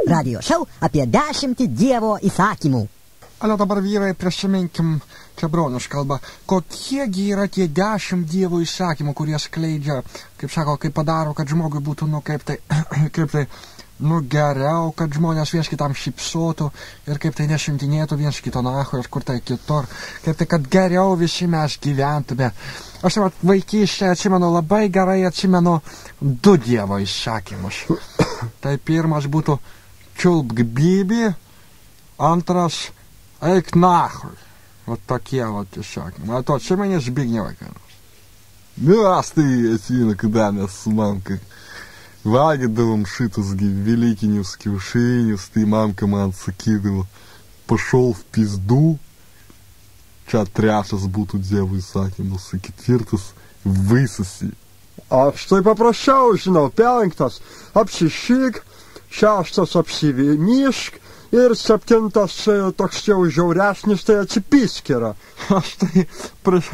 Radio šou apie 10 Dievo įsakymų. Ale dabar, vyrai, prisiminkim klebonius kalbą. Kokiegi yra tie 10 Dievo įsakymų, kurie skleidžia, kaip sako, kaip padaro, kad žmogui būtų, geriau, kad žmonės viens kitam šypsotų ir kaip tai nešimtinėtų viens kito nacho ir kur tai kitur. Kaip tai, kad geriau visi mes gyventume. Aš vaikystėje atsimenu, labai gerai atsimenu 2 Dievo įsakymus. Tai pirmas būtų čiulpk bibi, antras eik nachui. Вот tokie įsakymai. Tu atsimeni Zbignevai? Mes tai atsimenu, kada mes su mamka valgydavom šitus velykinius kiaušinius, tai mamka man sakydavo, pašol в пизду. Čia 3 būtų Dievo įsakymas, 4 vysasi. Aš tai paprasčiau žinau, 5 apsišyk, 6 apsivinišk ir 7 toks jau žiauresnis, tai atsipysk yra. Aš tai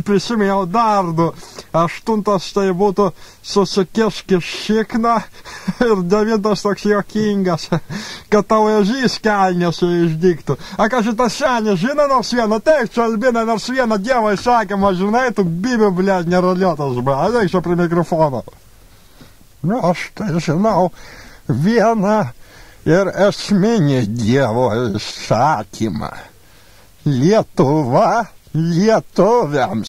prisimėjau dar 2. 8 tai būtų susikišk šikną ir 9 toks juokingas, kad tau ežys kelnėse išdiktų. A ką šitas senis žino nors vieną, teik čia Albina nors vieną Dievo įsakymą, žinai, tu bibi, blėt, nerolėtas, ateik čia prie mikrofono. Aš tai žinau vieną ir esminį Dievo įsakymą. Lietuva lietuviams.